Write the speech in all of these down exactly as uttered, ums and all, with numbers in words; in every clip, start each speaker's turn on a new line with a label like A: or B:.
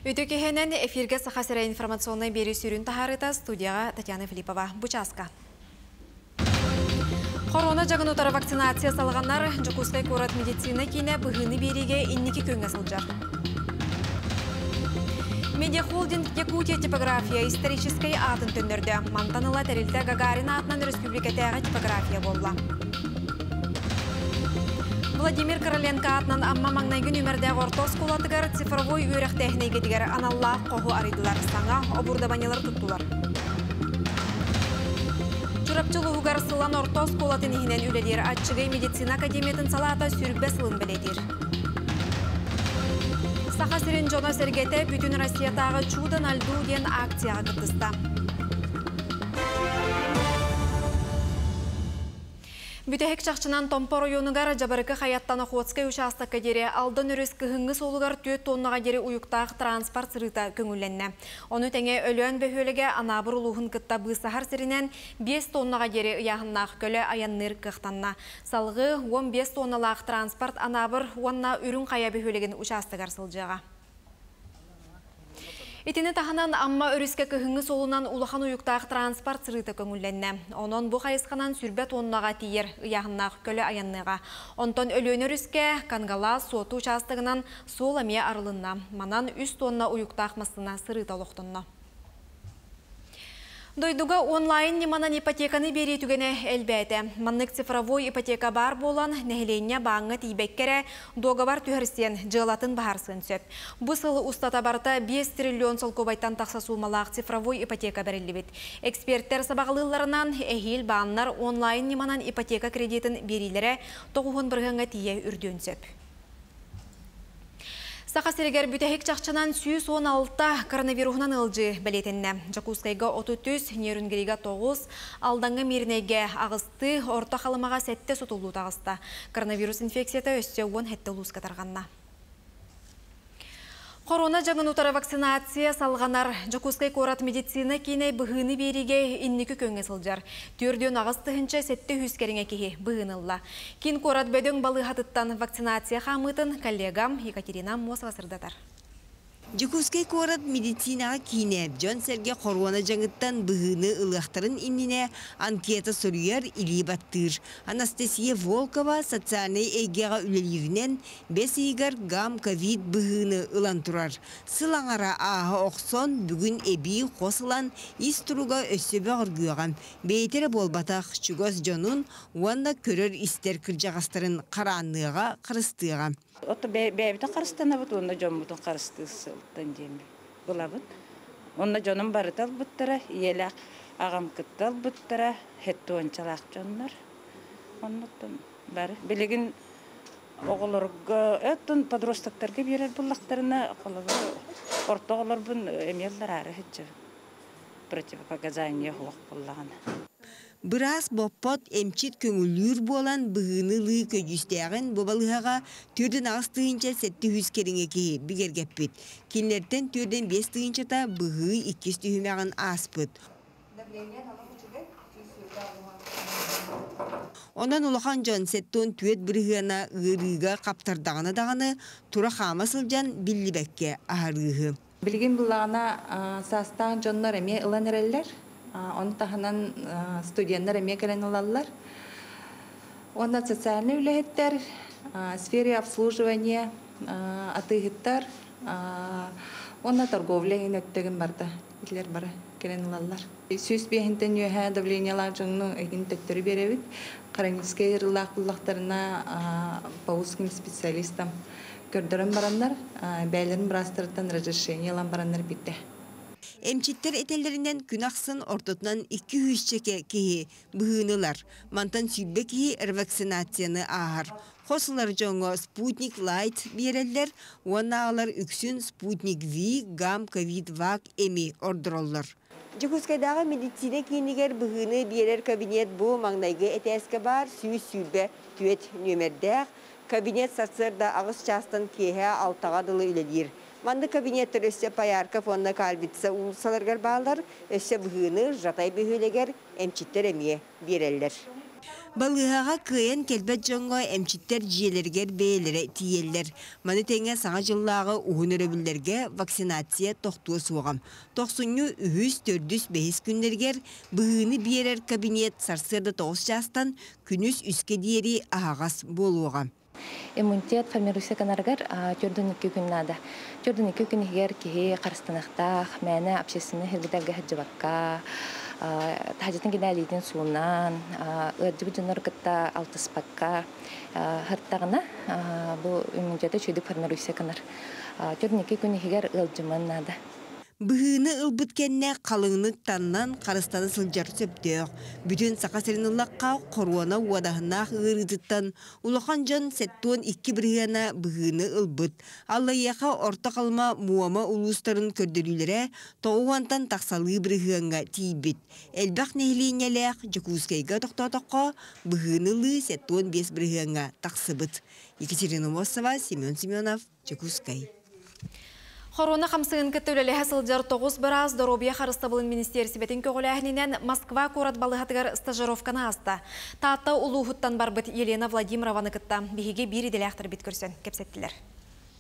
A: Үтүө киэһэнэн, эфиргэ Саха сирэ информационнай биэрии сүрүн таһаарыыта, студияҕа Татьяна Филиппова. Бу чааска. Корона дьаҥын утары вакцинация салҕанар, Дьокуускай куорат медицина киинэ быһыыны биэриигэ инники күөҥҥэ сылдьар. Медиахолдинг Якутия типография историческай аатын төннөрдө. Мантан ыла тэрилтэ Гагарин аатынан өрөспүүбүлүкэтээҕи типография буолла. Владимир Короленко аатынан Амма маҥнайгы нүөмэрдээх орто оскуолатыгар цифровой үөрэхтээһин эйгэтигэр аналлаах хоһу арыйдылар. Саҥа оборудованиелары туттулар. Чурапчы улууһугар Сылаҥ орто оскуолатын иһинэн үлэлиир Аччыгый медицина академиятын салаата сүүрбэ сылын бэлиэтиир. Саха сирин дьоно-сэргэтэ бүтүн Россиятааҕы «Чудо на льду» диэн акцияҕа кыттыста. Бүтэһик чахчынан Томпо оройуонугар Дьабарыкы Хайаттан Охотскай учаастакка диэри Алдан өрүс кыһыҥҥы суолугар түөрт тоннаҕа диэри уйуктаах транспорт сырыыта көҥүллэннэ. Ону тэҥэ Өлөөн бөһүөлэгэ Анаабыр улууһун кытта быысаһар сиринэн биэс тоннаҕа диэри ыйааһыннаах көлө айанныыр кыахтанна. Салгыы уон биэс тонналаах транспорт Анаабыр уонна Үрүҥ Хайа бөһүөлэгин учаастагар сылдьыаҕа. Итини таһынан Амма өрүскэ кыһыҥҥы суолунан улахан уйуктаах транспорт сырыыта көҥүллэннэ. Онон бу хайысханан сүүрбэ тоннаҕа тиийэр ыйааһыннаах көлө айанныаҕа. Онтон Өлүөнэ өрүскэ Кангалаас Суотту учаастагынан суол эмиэ арылынна. Манан үс тонна уйуктаах массыына сырыыта олохтонно. Дойдуга онлайн ньыманан ипотеканы биэрии түгэнэ элбээтэ. Маннык цифровой ипотека баар буолан, нэһилиэнньэ бааҥҥа тиийбэккэ эрэ дуогабар түһэрсиэн, дьыалатын быһаарсыан сөп. Бу сыл устата барыта биэс триллион солкуобайтан тахса суумалаах цифровой ипотека бэриллибит. Эксперттэр сабаҕалыылларынан, эһиил бааннар онлайн ньыманан ипотека кредитин биэриилэрэ тоҕус уон бырыһыаҥҥа тиийэ үрдүөн сөп. Саха сиригэр бүтэһик чахчынан сүүс уон алта коронавируһунан ыалдьыы бэлиэтэннэ. Дьокуускайга отут үс, Нерюнгрига тоҕус, Алдаҥҥа, Мииринэйгэ аҕыстыы, Орто Халымаҕа сэттэ сутуллуу таҕыста. Коронавирус инфекцията өссө уон сэттэ улууска тарҕанна. Корона дьаҥын утары вакцинация салҕанар. Дьокуускай куорат медицина киинэ быһыыны биэриигэ инники күөҥҥэ сылдьар. Түөрт уон аҕыс тыһыынча сэттэ сүүс кэриҥэ киһи быһыыны ылла. Киин куорат бөдөҥ балыыһатыттан вакцинация хаамыытын коллегам Екатерина Аммосова сырдатар.
B: Дьокуускай куорат медицинаҕа киинэ дьон-сэргэ хоруона дьаҥыттан быһыыны ылыахтарын иннинэ анкета суруйар, илии баттыыр. Анастасия Волкова социальнай эйгэҕэ үлэлииринэн бэс ыйыгар гам-ковид быһыыны ылан турар. Сыл аҥара ааһа охсон бүгүн эбии хос ылан ис туруга өссө бөҕөргүөҕэ. Бэйэтэ эрэ буолбатах, чугас дьонун уонна көрөр-истэр кырдьаҕастарын хараанныаҕа, харыстыаҕа.
C: Ото бэйэбитин харыстанабыт уонна дьоммутун харыстыыр сылтан диэн булабыт. Онно дьонум барыта ылбыттара, ийэлээх аҕам кытта ылбыттара, хэттуончалаах дьоннор. Оннуттан бары. Билигин оҕолорго, өттүн подростоктарга биэрэр буллахтарына, орто оҕолорбун эмиэ ыллараары сылдьабын. Противопоказания суох буоллаҕына.
B: Быраас боппот эмчит көҥүллүүр буолан быһыыны ылыы көдьүүстээҕин бу балыыһаҕа түөрт аҕыс тыһыынча сэттэ сүүс кэриҥэ киһи бигэргэппит. Кинилэртэн түөрт биэс тыһыынчата быһыы иккис түһүмэҕин ааспыт. Онон улахан дьон сэттэ уон түөрт бырыһыана ыарыыга хаптардаҕына даҕаны тура хаама сылдьан биллибэккэ аһарыыһы.
D: Билигин буллаҕына саастаах дьоннор эмиэ ылан эрэллэр. Оны таһынан студенттар эмиэ кэлэн ылаллар. Онно социальный үлэһиттэр, сфере обслуживания, атыыһыттар, онно торговля өттөгүн барда. Итилер бары кэлэн ылаллар. Сүүс биэһинтэн үөһэ давлениелаах дьоҥну эгин төттөрү биэрэбит. Хроническай ыарыылаах буллахтарына по узким специалистам көрдөрөн бараннар, бээлэрин быраастарыттан разрешение ылан бараннар битте.
B: Эмчиттэр этэллэринэн күн ахсын ортотунан икки сүүсчэкэ киһи быһыынылар. Мантан сүүрбэ киһи ревакцинацияны ааһар. Хосулар дьоҥҥо Спутник Лайт биэрэллэр, уонна аҕалар үксүн Спутник Ви, Гам, Ковид Вак эми ордороллор. Дьокуускайдааҕы медицина киинигэр быһыыны биэрэр кабинет бу маҥнайгы этээскэ баар сүүс сүүрбэ түөрт нүөмэрдээх. Кабинет сарсыарда аҕыс чаастан киэһэ алтаҕа дылы үлэлиир. Манны кабинеттер өссө Поярков уонна Кальвица уулуссаларыгар бааллар, өссө быһыыны Жатай бөһүөлэгэр эмчиттэр эмиэ биэрэллэр. Балыыһаҕа кыайан кэлбэт дьоҥҥо эмчиттэр дьиэлэригэр бэйэлэрэ тиийэллэр. Маны тэҥэ Саҥа дьыллааҕы уһун өрөбүллэргэ вакцинация тохтуо суоҕа. Тохсунньу үһүс, төрдүс, бэһис күннэригэр быһыыны биэрэр кабинет сарсыарда тоҕус чаастан күнүс үскэ диэри аһаҕас буолуоҕа.
D: Иммунитет формируйса гынарыгар түөрт уон икки күн наада. Түөрт уон икки күн иһигэр киһи харыстаныахтаах, мээнэ общественный сирдэргэ сылдьыбакка, таһдьатын кидээлиитин суунан, ыалдьыбыт дьоннору кытта алтыспакка сырыттаҕына, бу иммунитета үчүгэйдик формируйса гынар. Түөрт уон икки күн иһигэр ыалдьыман наада.
B: Быһыыны ылбыт кэннэ халыҥнык таннан харыстана сылдьар сөптөөх. Бүтүн Саха сирин ыллахха, хоруона уодаһыннаах ыарыытыттан улахан дьон сэттэ уон икки бырыһыана быһыыны ылбыт. Аллайыаха, Орто Халыма, Муома улуустарын көрдөрүүлэрэ тоҕус уонтан тахсалыы бырыһыаҥҥа тиийбит. Элбэх нэһилиэнньэлээх Дьокуускайга тохтоотоххо, быһыыны ылыы сэттэ уон биэс бырыһыаҥҥа тахсыбыт. Екатерина Мосова, Семен Семенов, Дьокуускай.
A: Хоруона хамсыгын кытта үлэлэһэ сылдьар тоҕус быраас доруобуйа харыстабылын министиэристибэтин көҕүлээһининэн Москва куорат балыыһатыгар стажировканы ааста. Таатта улууһуттан барбыт Елена Владимированы кытта биһиги биир идэлээхтэрбит көрсөн кэпсэттилэр.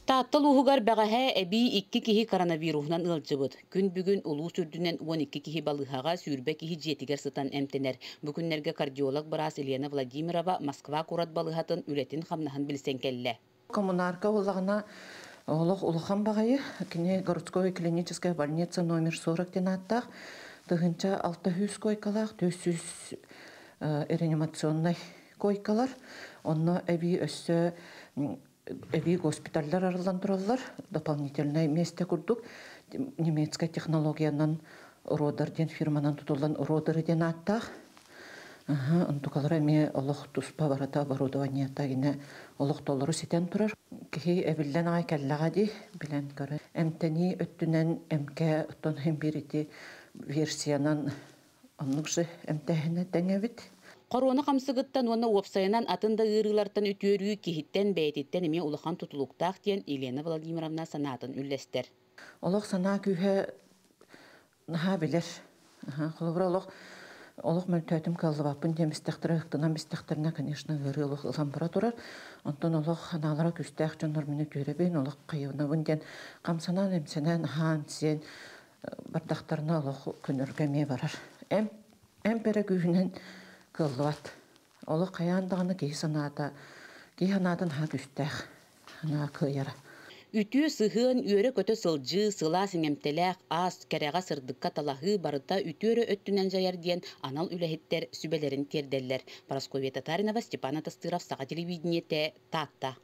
E: Таатта улууһугар бэҕэһээ эбии икки киһи коронавируһунан ыалдьыбыт. Күн бүгүн улуус үрдүнэн уон икки киһи балыыһаҕа, сүүрбэ киһи дьиэтигэр сытан эмтэнэр. Бу күннэргэ кардиолог быраас Елена Владимирова Москва куорат балыыһатын үлэтин-хамнаһын билсэн кэллэ.
F: Коммунарка буоллаҕына олох улахан баҕайы, кини городской клиническая больница номер сорок диэн ааттаах, тыһыынча алта сүүс койкалаах, түөрт сүүс реанимационнай койкалар. Онно эбии өссө эбии госпиталлар арыллан тураллар, дополнительное место курдук немецкая технологиянан Родер диэн фирманан тутуллан Родер диэн ааттаах. Онтукалара эмиэ олох туспа барыта оборудованиета гине олох толору ситэн турар. Киһи эбиллэн аҕай кэллэҕэ дии, билэн көрөн. Эмтэнии өттүнэн эмкэ оттон хим биир ити версиянан оннук же эмтээһинэ тэҥэбит.
E: Хоруона хамсыгыттан уонна уопсайынан атын да ыарыылартан үтүөрүү киһиттэн бэйэтиттэн эмиэ улахан тутулуктаах диэн Елена Владимировна санаатын үллэстэр.
F: Олох санаа күүһэ наһаа билэр. Холобура, олох олох мөлтөөтүм, кыаллыбаппын диэн бистэхтэрэ, ыктынан бистэхтэринэ, конечно, ыарыы олох ылан бара турар. Онтон олох ханаалара күүстээх дьоннор мин үтүөрэбин, олох хайыбынабын диэн хамсанан, эмсэнэн, аһаан, сиэн бардахтарына олох көнөргө эмиэ барар. Эм эмп эрэ күүһүнэн кыаллыбат. Олох хайаан даҕаны киһи санаата, киһи санаатын наһаа күүстээх, санаа кыайара.
E: Үтүө сыһыан, үөрэ-көтө сылдьыы, сылаас иҥэмтэлээх ас, кэрэҕэ сырдыкка талаһыы барыта үтүөрэ өттүнэн дьайар диэн анал үлэһиттэр сүбэлэрин тиэрдэллэр. Парасковья Татаринова, Степан Атастыров, Саха телевидениете, Таатта.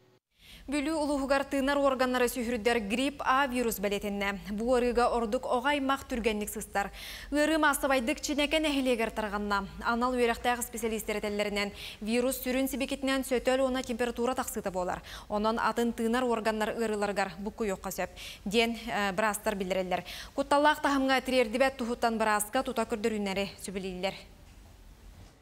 A: Бүлүү улууһугар тыынар органнары сүһүрдэр грипп А вирус бэлиэтэннэ. Бу ыарыыга ордук оҕо аймах түргэнник сыстар. Ыарыы маассабайдык Чинэкэ нэһилиэгэр тарҕанна. Анал үөрэхтээх специалистер этэллэринэн, вирус сүрүн сибикитинэн сөтөл уонна температура тахсыыта буолар. Онон атын тыынар органнар ыарыыларыгар буккуйуохха сөп диэн быраастар биллэрэллэр. Кутталлаах таһымҥа тириэрдибэт туһуттан бырааска тута көрдөрүнэри сүбэлииллэр.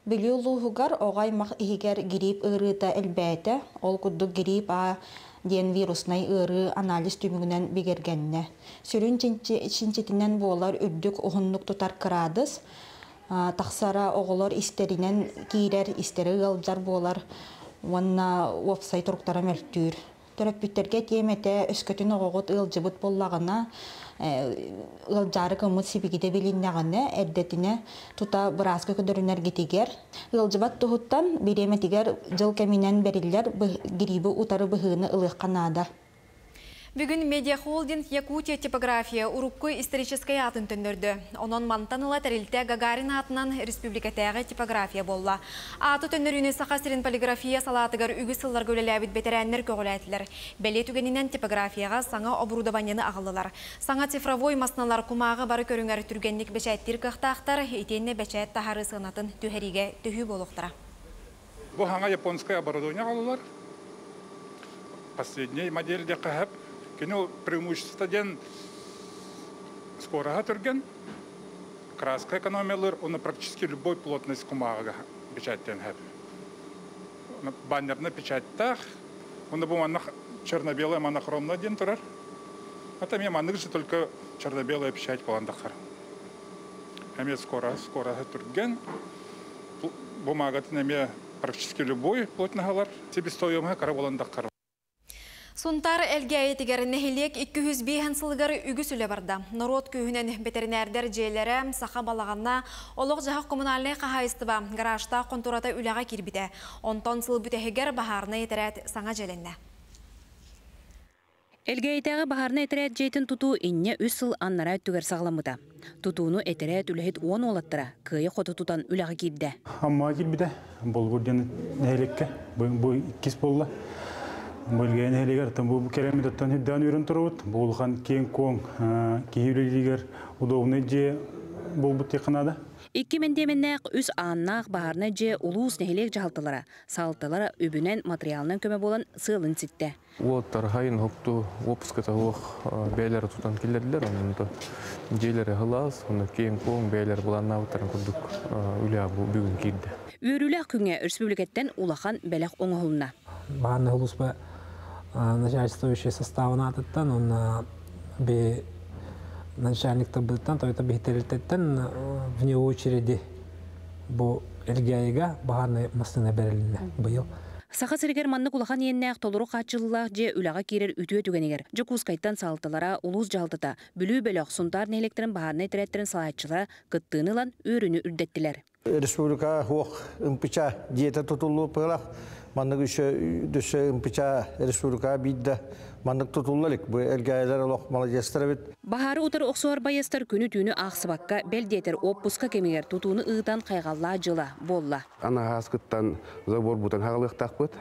G: Бүлүү улууһугар оҕо аймах иһигэр грипп ыарыыта элбээтэ. Ол курдук грипп А диэн вируснай ыарыы анализ түмүгүнэн бигэргэннэ. Сүрүн чинчитинэн буолар үрдүк, уһуннук тутар кыраадыс тахсара, оҕолор истэринэн киирэр, истэри ыалдьар буолар уонна уопсай туруктара мөлтүүр. Төрөппүттэргэ этиэм этэ, өскөтүн оҕоҕут ыалдьыбыт буоллаҕына, ыалдьаары гыммыт сибикитэ билиннэҕинэ, эрдэтинэ тута бырааска көрдөрүнэргитигэр. Ыалдьыбат туһуттан бириэмэтигэр дьыл кэминэн бэриллэр грибы утары быһыыны ылыахха наада.
A: Бүгүн медиахолдинг Якутия типография урукку историческай аатын төннөрдө. Онон мантан ыла тэрилтэ Гагарин аатынан республикатааҕы типография буолла. Ааты төннөрүүнү Саха сирин полиграфия салаатыгар үгүс сылларга үлэлээбит бэтэрээннэр көҕүлээтилэр. Бэлиэ түгэнинэн типографияҕа саҥа оборудованиены аҕаллылар. Саҥа цифровой массыыналар кумааҕы бары көрүҥэр түргэнник бэчээттиир кыахтаахтар, итиэннэ бэчээт таһаарыы сыанатын түһэриигэ төһүү буолуохтара.
H: Бу саҥа японское оборудование аҕаллылар. Последняя модель диэххэ сөп. Кини преимущество диэн скороһа түргэн, краска экономиялыыр, уонна практически любой плотность кумааҕыга печаттыан сөп. Баннерный печаттаах, уонна бу манна черно-белая монохромная диэн турар. Это эмиэ маннык же, только черно-белая печать буолан тахсар. Эмиэ скоро, скороһа түргэн, бумагатын эмиэ Практически любой плотногалар себестоимость кара боландак.
A: Сунтар Элгээйитигэр нэһилиэк икки сүүс биэс сылыгар үгүс үлэ барда. Норуот күүһүнэн бэтэринээрдэр дьиэлэрэ, саха балаҕана, олох-дьаһах коммунальнай хаһаайыстыба, гаражтаах хонтуората үлэҕэ киирбитэ. Онтон сыл бүтэһигэр баһаарынай этэрээт саҥа дьиэлэннэ.
E: Элгээйитээҕи баһаарынай этэрээт дьиэтин тутуу инньэ үс сыл аннараа өттүгэр саҕаламмыта. Тутууну этэрээт үлэһит уон уолаттара кыайа хото тутан үлэҕэ киирдэ.
I: Аммаҕа киирбитэ, Болугур диэн нэһилиэккэ, бу иккис буолла. Бу Элгээйи нэһилиэгэр бу кэлэммит оттон үрдээн үөрэн турабыт. Бу улахан киэҥ-куоҥ киһи үлэлииригэр удобный дьиэ буолбут диэххэ наада.
E: Икки мэндиэмэннээх, үс ааннаах баһаарынай дьиэ улуус нэһилиэк дьаһалталара, салалталара үбүнэн, материалынан көмө буолан сыалын ситтэ.
J: Уолаттар хайын хопту отпуската суох бэйэлэрэ тутан киллэрдилэр, онон дьиэлэрэ сылаас, онно киэҥ-куоҥ бэйэлэрэ былааннаабыттарын курдук үлэ бүгүн киирдэ.
E: Үөрүүлээх күҥҥэ өрөспүүбүлүкэттэн улахан бэлэх оҥоһулунна.
K: Баһаарынай улууспа начальствующий составын аатыттан, онно би начальниктарбытыттан, тойота биһитэрилтэттэн вне очереди бу Элгээйигэ баһаарынай массыына бэрилиннэ быйыл.
E: Саха сиригэр маннык улахан иэннээх толору хааччыллыылаах дьиэ үлэҕэ киирэр үтүө түгэнигэр Дьокуускайтан салалталара, улуус дьаһалтата, Бүлүү бөлөх, Сунтаар нэһилиэктэрин баһаарынай этэрээттэрин салайааччылара кыттыыны ылан үөрүүнү үрдэттилэр.
L: Республика хуох ымпыча дьиэтэ тутуллуу пыылах, маннык үсө дөссө ымпыча республика биирдэ маннык тутулла илик. Бу Элгээйилэр олох молодецтар эбит.
E: Баһаары утары охсуһар байыастар күнү-түүнү аахсыбакка, бэл диэтэр отпуска кэмигэр тутууну ыытан хайҕаллаах дьыла буолла.
M: Анаһааскыттан забор бутан хагалыахтаахпыт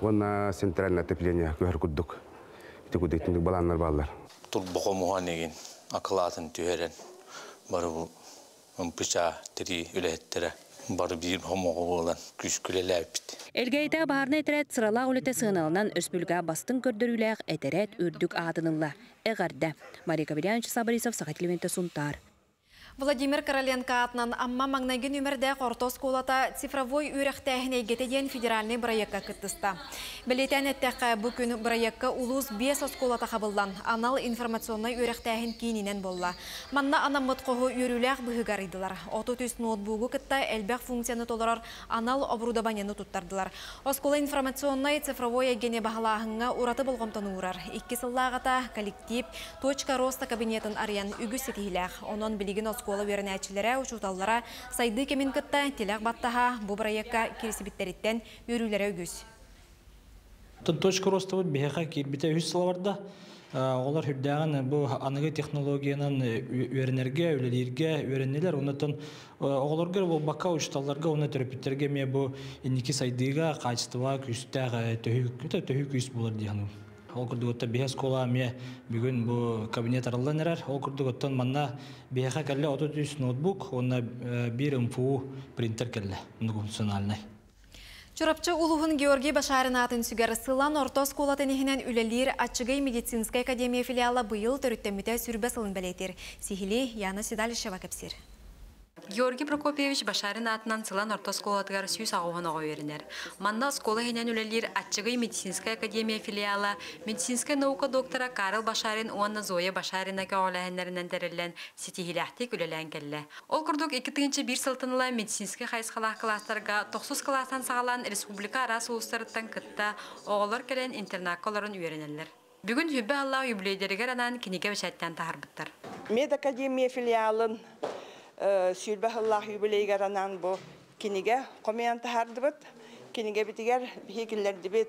M: уонна центральное отопление көһөр курдук. Ити кудук балааннар бааллар.
N: Турбохо муһан эгин акылаатын түһэрэн бары бу ымпыча тири үлэһиттэрэ бары биир хомоҕо буолан күскүлэлээбит.
E: Элгээйитээҕи баһаарынай этэрээт сыралаах үлэтэ сыаналанан өрөспүүбүлүкэҕэ бастыҥ көрдөрүүлээх этэрээт үрдүк аатынылла. Эҕэрдэ. Мария Кабельянович Борисов, Саха телевидениетэ, Сунтаар.
A: Владимир Короленко аатынан Амма маҥнайгы нүөмэрдээх орто оскуолата цифровой үөрэхтээһин эйгэтэ диэн федеральнай бырайыакка кыттыста. Бэлиэтээн эттэххэ, бу күн бырайыакка улуус биэс оскуолата хабыллан, анал информационнай үөрэхтээһин киининэн буолла. Манна анаммыт хоһу үөрүүлээх быһыыга арыйдылар. Отут үс ноутбугу кытта элбэх функцияны толорор анал оборудованиены туттардылар. Оскуола информационнай цифровой эйгэни баһылааһыҥҥа ураты болҕомтону уурар. Икки сыллааҕыта коллектив Точка роста кабинетын арыйан үгүс ситиһиилээх. Онон билигин оскуола үөрэнээччилэрэ, учууталлара сайдыы кэмин кытта тилэх баттаһа бу бырайыакка киирсибиттэриттэн үөрүүлэрэ үгүс.
O: Точка роста биһиэхэ киирбитэ үс сыл барда. Олар үрдээҕин бу аныгы технологиянан үөрэнэргэ, үлэлииргэ үөрэннилэр. Оннотон оҕолорго буолбакка, учууталларга, уонна төрөппүттэргэ эмиэ бу инники сайдыыга, качествоҕа күүстээх төһүү төһүү күүс буолар дии саныыбын. Ол курдук оттон биһиэхэ оскуола эмиэ бүгүн бу кабинет арыллан эрэр. Ол курдук оттон манна биһиэхэ кэллэ отут үс ноутбук, уонна биир М Ф У принтер кэллэ, многофункциональный.
A: Чурапчы улууһун Георгий Башарин аатын сүгэр Сылаҥ орто оскуолатын иһинэн үлэлиир Аччыгый медицинскэй академия филиала быйыл төрүттэммитэ сүүрбэ сылын бэлиэтиир. Сиһилии Яна Седалищева кэпсиир.
P: Георгий Прокопьевич Башарин аатынан Сылаҥ орто оскуолатыгар сүүс аҕыс уон оҕо үөрэнэр. Манна оскуола иһинэн үлэлиир Аччыгый медицинскэй академия филиала медицинскэй наука доктора Карл Башарин уонна Зоя Башарина көҕүлээһиннэринэн тэриллэн ситиһиилээхтик үлэлээн кэллэ. Ол курдук икки тыһыынча биир сылтан ыла медицинскэй хайысхалаах кылаастарга тохсус кылаастан саҕалаан республика араас улуустарыттан кытта оҕолор кэлэн интернакка олорон үөрэнэллэр. Бүгүн сүүрбэ сыллаах юбилейдэригэр анаан кинигэ бэчээттээн таһаарбыттар.
Q: Медакадемия филиалын сүүрбэ сыллаах юбилейыгар анаан бу кинигэ хомуйан таһаардыбыт. Кинигэбитигэр биһиги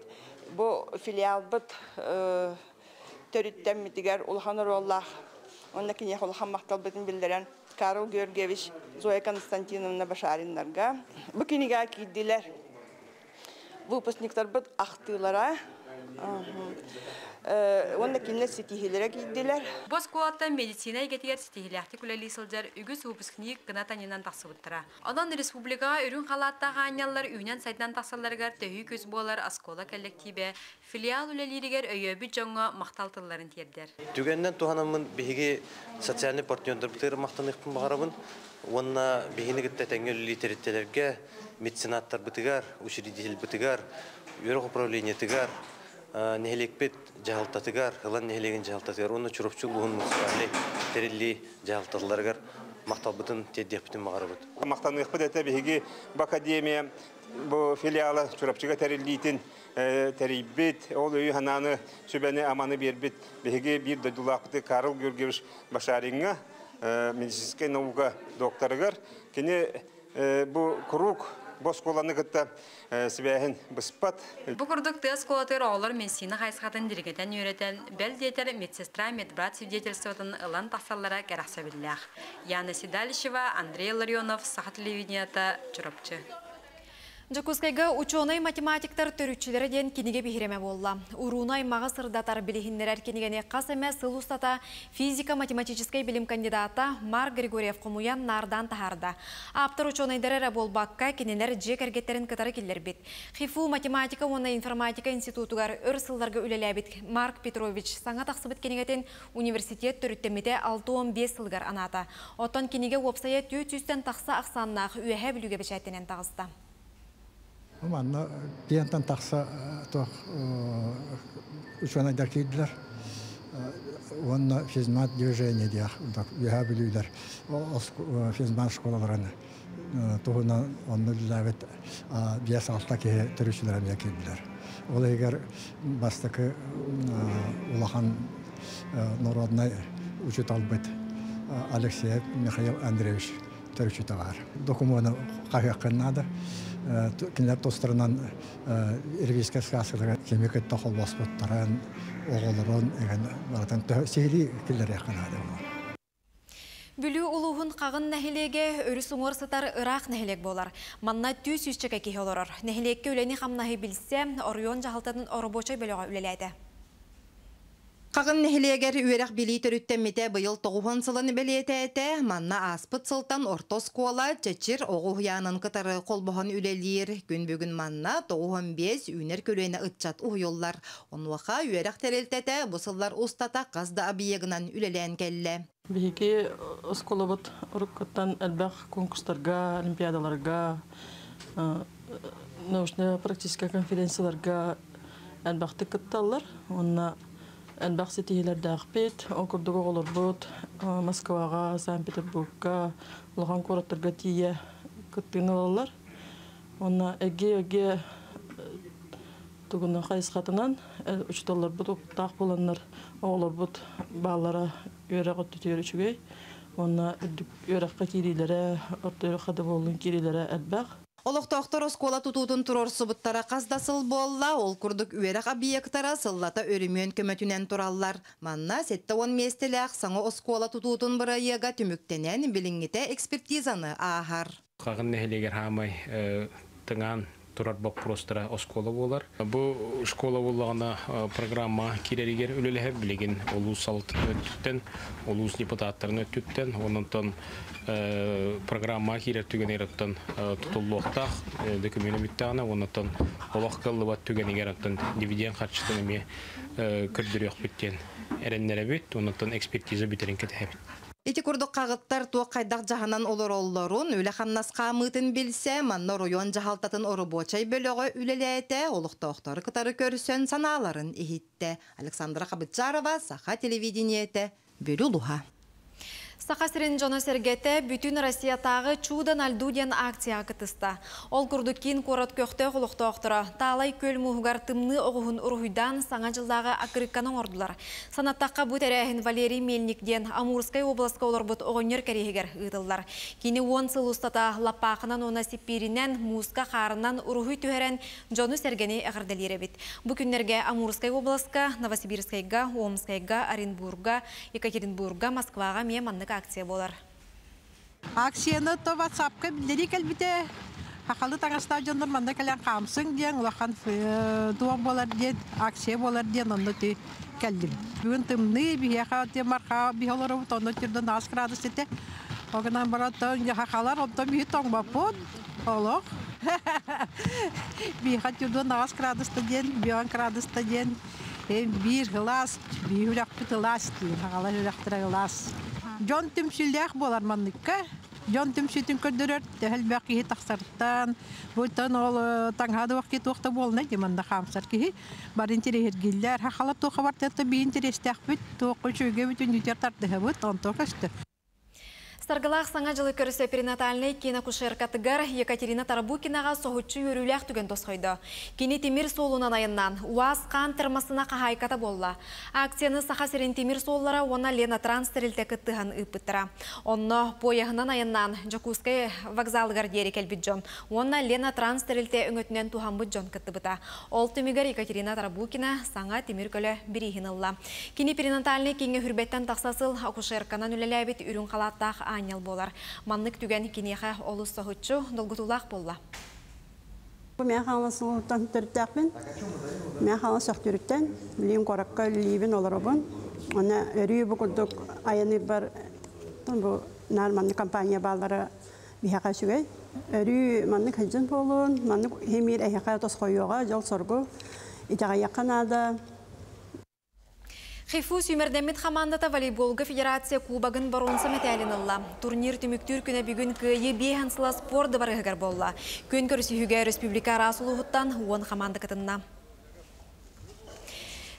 Q: бу филиалбыт төрүттэммитигэр улахан оруоллаах. Онно киниэхэ улахан махталбытын биллэрэн Карл Георгиевич, Зоя Константиновна Башариннарга. Бу кинигэҕэ киирдилэр выпускниктарбыт ахтыылара, уонна кинилэр ситиһиилэрэ киирдилэр.
P: Бу оскуолаттан медицина эйгэтигэр ситиһиилээхтик үлэлии сылдьар үгүс выпускник кынат анньынан тахсыбыттара. Онон республикаҕа үрүҥ халааттаах аанньаллар үүнэн сайдан тахсалларыгар төһүү күүс буолар оскуола коллективэ филиал үлэлииригэр өйөөбүт дьоҥҥо махтал тылларын тиэрдэр.
R: Түгэнинэн туһанаммын биһиги социальный партнердарбытыгар махтаныахпын баҕарабын уонна биһини кытта тэҥҥэ үлэлиир тэрилтэлэргэ, меценаттарбытыгар, учредительбытыгар, үөрэх управлениетыгар, нэһилиэкпит дьаһалтатыгар, Сылаҥ нэһилиэгин дьаһалтатыгар, уонна Чурапчы улууһун муниципальнай тэриллии дьаһалталарыгар мақталбытын теддеппитин мағарыбыт.
H: Мақтаныqпыт эте биһиги бу академия бу филиала Чурапчыга тэриллиитин тэрийбит, ол өйү хананы сүбэни аманы бербит биһиги бир дойдулаахпыты Карл Георгиевич Башаринга, медицинская наука докторыгар, кини бу курук бу оскуоланы кытта сибээһин быспат.
P: Бу курдук тыа оскуолатыгар оҕолор медицина хайысхатын дириҥэтэн үөрэтэн, бэл диэтэр медсестра, медбрат свидетельствотын ылан тахсаллара кэрэхсэбиллээх. Яна Седалищева, Андрей Ларионов, Саха телевидениета, Чурапчы.
A: Дьокуускайга ученый математиктар төрүччүлэрэ диэн кинигэ биһирэмэ буолла. Урууну-аймаҕы сырдатар, билиһиннэрэр кинигэни хас эмэ сыл устата физико-математическай билим кандидата Марк Григорьев хомуйан, наардаан таһаарда. Ааптар ученайдары эрэ буолбакка, кинилэр дьиэ кэргэттэрин кытары киллэрбит. ХИФУ математика уонна информатика институтугар өр сылларга үлэлээбит Марк Петрович саҥа тахсыбыт кинигэтин университет төрүттэммитэ алта уон биэс сылыгар анаата. Оттон кинигэ уопсайа түөрт сүүстэн тахса ахсааннаах Үөһээ Бүлүүгэ бэчээттэнэн таҕыста.
S: Манна пиантан тахса туох учуонайдар киирдилэр. Уонна физмат движение диэх үөһээ бүлүүлэр физмат школаларын туһунан онно үлэлээбит биэс алта киһи төрүччүлэр эмиэ киирдилэр. Ол иһигэр бастакы улахан народнай учууталбыт Алексеев Михаил Андреевич төрүччүтэ баар. Докумуону хаһыаххын наада. Кинилэр тустарынан ревизскэй сказкалара кими кытта холбоспуттарын, оҕолорун эгэн барытын сиһилии киллэриэххэ наада.
A: Бүлүү улууһун Хаҕын нэһилиэгэ өрүс уҥуор сытар ыраах нэһилиэк буолар. Манна түөрт сүүсчэкэ киһи олорор. Нэһилиэккэ үлэни хамнаһы билсэ, оройуон дьаһалтатын оробуочай бөлөҕө үлэлээтэ.
T: Хаҕын нэһилиэгэр үөрэх билии төрүттэммитэ быйыл тоҕуһун сылын бэлиэтээтэ. Манна ааспыт сылтан орто оскуола Чэчир оҕо уһуйаанын кытары холбоһон үлэлиир. Күн бүгүн манна тоҕуһун биэс үүнэр көлүөнэ ыччат уһуйуллар. Онуоха үөрэх тэрилтэтэ бу сыллар устата хас да объегынан үлэлээн кэллэ.
U: Биһиги оскуолабыт уруккуттан элбэх конкурстарга, олимпиадаларга, научно-практическай конференцияларга элбэхтик кытталлар. Онно элбэх ситиһиилэрдээхпит, ол курдук оҕолорбут Москваҕа, Санкт-Петербургка, улахан куораттарга тиийэ кыттыыны ылаллар. Онно эгэ-эгэ тугунан хайысхатынан учууталларбыт опыттаах буоланнар оҕолорбут бааллара үөрэх өттүтүгэр үчүгэй. Онно үөрэххэ киириилэрэ, орто үөрэххэ да буоллун киириилэрэ элбэх.
T: Олохтоохтор оскуола тутуутун туруорсубуттара хас да сыл буолла, ол курдук үөрэх объектара сыллата өрөмүөн көмөтүнэн тураллар. Манна сэттэ уон миэстэлээх саҥа оскуола тутуутун бырайыага түмүктэнэн билиҥҥитэ экспертизаны ааһар.
V: Хаҕын нэһилиэгэр хаамай тыҥаан турар боппуруостара оскуола буолар. Бу школа буоллаҕына программа киирэригэр үлэлэһэр билигин улуус салалтатын өттүттэн, улуус депутаттарын өттүттэн, ононтон программа киирэр түгэнигэр оттон тутуллуохтаах документ бүттэҕинэ, ононтон олох кыллыбат түгэнигэр оттон дивиденд харчытын эмиэ көрдөрүөхпүт диэн эрэннэрэбит, ононтон экспертиза бүтэрин кэтэһэбит.
T: Ити курдук хаҕыттар туох хайдах дьаһанан олороллорун, үлэ хамнас хаамыытын билсэ, манна оройуон дьаһалтатын оробуочай бөлөҕө үлэлээтэ, олохтоохтору кытары көрсөн санааларын иһиттэ. Александра Хабытчарова, Саха телевидениетэ, Бүлүү улууһа.
A: Саха сирин дьоно-сэргэтэ бүтүн Россиятааҕы Чудо на льду диэн акцияҕа кыттыста. Ол курдук киин куорат көхтөөх олохтоохторо Таалай күөл мууһугар тымныы оҕуһун уруһуйдаан саҥа дьыллааҕы аккырыыкканы оҥордулар. Санаттахха бу тэрээһин Валерий Мельник диэн Амурскай областка олорбут оҕонньор кэриэһигэр ыытыллар. Кини уон сыл устата лаппаахынан уонна сиппииринэн, мууска хаарынан уруһуй түһэрэн дьону-сэргэни эҕэрдэлиир эбит. Бу күннэргэ Амурскай областка, Новосибирскайга, Омскайга, Оренбурга, Екатеринбурга, Москваҕа эмиэ маннык акция буолар.
W: Акцияны то WhatsApp-ка биллэрии кэлбитэ. Хахалы таҥастаах дьоннор манна кэлэн хаамсыҥ диэн улахан туох буолар диэн акция буолар диэн онно ти кэллим. Бүгүн тымныы биһиэхэ ти марха биһи олоробут онно тирден аас градус этэ. Огынан бараттан хахалар онтон биһи тоҥбаппыт олох. Биһиэхэ тирден аас градуста диэн, бион градуста диэн биир ылаас, биир үрөхпүт ылаас диэн, хахалар үрөхтөрө ылаас. Дьон түмсүүлээх буолар манныкка. Дьон түмсүүтүн көрдөрөр, төһөлбөх киһи тахсартан, буйтан ол таҥһаады вакыт туохта буолна ди манна хаамсар киһи. Бар интерехергиллер, хахалар туоха бартыатта би интерестээхпит, туохка үчүгэй бүтүн үтер тардыһабыт, онто көстө.
A: Саргылаах саҥа дьылы көрсө перинатальнай киин акушеркатыгар Екатерина Тарабукинаҕа соһуччу үөрүүлээх түгэн тосхойдо. Кини тимир суолунан айаннаан, УАЗ хаан термосына хаһаайката буолла. Акцияны Саха сирин тимир суоллара уонна Лена Транс тэрилтэ кыттыһан ыыппыттара. Онно пуойаһынан айаннаан Дьокуускай вокзалыгар диэри кэлбит дьон уонна Лена Транс тэрилтэ өҥөтүнэн туһаммыт дьон кыттыбыта. Ол түмүгэр Екатерина Тарабукина саҥа тимир көлө бирииһин ылла. Кини перинатальнай кииҥҥэ сүүрбэттэн тахса сыл акушерканан үлэлээбит үрүҥ халааттаах аанньал буолар. Маннык түгэн киниэхэ олус соһуччу, долгутуулаах буолла.
B: Мэҥэ Хаҥалас улууһуттан төрүттээхпин. Мэҥэ Хаҥалас Төхтүрүттэн. Билигин куоракка үлэлиибин, олоробун. Онно өрүү бу курдук айаныырбар бу наар маннык компания бааллара биһиэхэ үчүгэй. Өрүү маннык сылдьан буолун, маннык химиир эһиэхэ тосхойуоҕа, дьол-соргу итэҕэйиэххэ наада.
A: ХИФУ сүүмэрдэммит хамаандата волейболга федерация кубогын боруонса мэтээлин ылла. Турнир түмүктүүр күнэ бүгүн Кыайыы биэс уон сыла спорт дыбарыаһыгар буолла. Күөн көрсүһүүгэ республика араас улууһуттан уон хамаанда кытынна.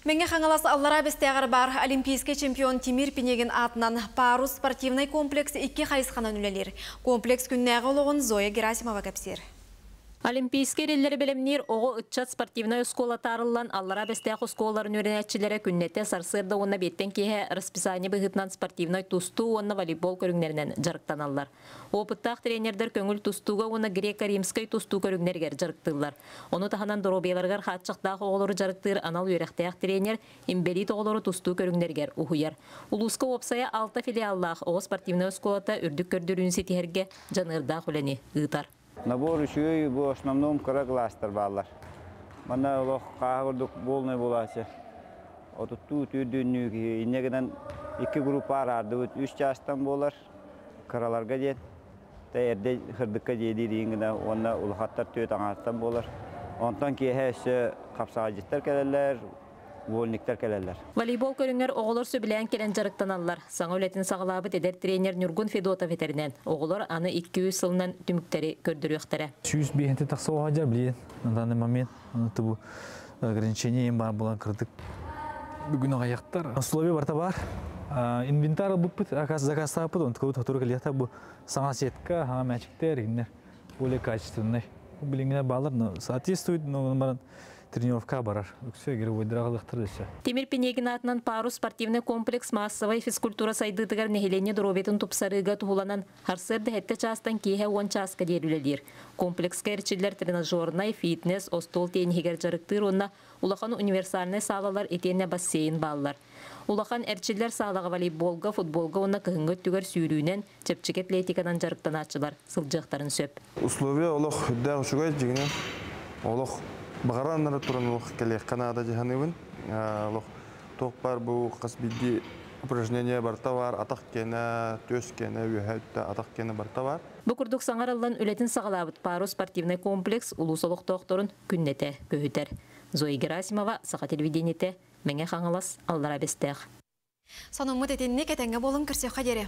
A: Мэҥэ Хаҥалас Аллараа Бэстээҕэр баар олимпийскай чемпион Тимир Пинегин аатынан Парус спортивнай комплекс икки хайысханан үлэлиир. Комплекс күннээҕи олоҕун Зоя Герасимова кэпсиир.
C: Олимпийскай эрэллэри бэлэмниир оҕо ыччат спортивнай оскуолата арыллан, Аллараа Бэстээх оскуолаларын үөрэнээччилэрэ күннэтэ сарсыарда уонна эбиэттэн киэһэ расписание быһыытынан спортивнай тустуу уонна волейбол көрүҥнэринэн дьарыктаналлар. Опыттаах тренердэр көҥүл тустууга уонна греко-римскай тустуу көрүҥнэригэр дьарыктыыллар. Ону таһынан доруобуйаларыгар хааччахтаах оҕолору дьарыктыыр анал үөрэхтээх тренер инбэлиит оҕолору тустуу көрүҥнэригэр уһуйар. Улууска уопсайа алта филиаллаах оҕо спортивнай оскуолата үрдүк көрдөрүүнү ситиһэргэ дьаныардаах үлэни ыытар.
D: Набор үчүгэй, бу основном кыра класстар бааллар. Манна олох хааһы курдук полный буолааччы. Отуттуу түүрдүүннүү киһи инньэ гынан икки группа араардыбыт үс чаастан буолар кыраларга диэн. Тэ эрдэ сырдыкка дьиэлиир иин гына уонна улахаттар түөрт аҥааттан буолар. Онтон киэһэ өссө хапсаҕайдьыттар кэлэллэр, вольниктар кэлэллэр.
C: Волейбол көрүҥэр оҕолор сөбүлээн кэлэн дьарыктаналлар. Саҥа үлэтин саҕалаабыт эдэр тренер Ньургун Федотов этэринэн, оҕолор аны икки-үс сылынан түмүктэри көрдөрүөхтэрэ.
X: Сүүс биэһинтэн тахса оҕо сылдьар билигин на данный момент. Аны бу ограничение баар буолан кырдык бүгүн аҕыйахтар. Условия барыта баар. Инвентарь ылбыппыт, заказтаабыт, онтукабыт сотору кэлиэхтэ бу саҥа сетка, саҥа мячиктэр, игиннэр более качественный. Билиҥҥинэ баалар, но соответствует, но баран тренировка барар. Үксэ игровойдара аҕалыахтара өссө.
C: Тимир Пинегин аатынан Парус спортивнай комплекс массовай физкультура сайдыытыгар нэһилиэнньэ доруобуйатын тупсарыыга туһуланан сарсыарда сэттэ чаастан киэһэ уон чааска диэри үлэлиир. Комплекска эрчиллэр тренажернай, фитнес, остуол тенниһигэр дьарыктыыр уонна улахан универсальнай саалалар итиэннэ бассейн бааллар. Улахан эрчиллэр саалаҕа волейболга, футболга уонна кыһыҥҥы өттүгэр сүүрүүнэн, чэпчэки атлетиканан дьарыктанааччылар сылдьыахтарын сөп.
Y: Условия олох үрдээх үчүгэй дьиҥинэн олох баҕаран туран олох кэлиэххэ наада дии саныыбын. Олох туох баар бу хас биирдии упражнение барыта баар, атах киэнэ, түөс киэнэ, үөһэ өттө атах киэнэ барыта баар.
C: Бу курдук саҥарыллан үлэтин саҕалаабыт Парус спортивнай комплекс улуус олохтоохторун күннэтэ көһүтэр. Зоя Герасимова, Саха телевидениетэ, Мэҥэ Хаҥалас, Аллараа Бэстээх.
A: Сонуммут итинник, этэҥҥэ буолуҥ, көрсүөххэ диэри.